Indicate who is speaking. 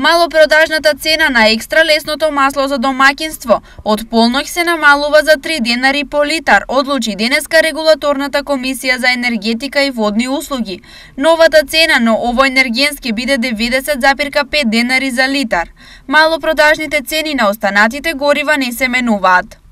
Speaker 1: Малопродажната цена на екстра лесното масло за домаќинство од полноќ се намалува за 3 денари по литар, одлучи денеска регулаторната комисија за енергетика и водни услуги. Новата цена на овој енергент ќе биде 90,5 денари за литар. Малопродажните цени на останатите горива не се менуваат.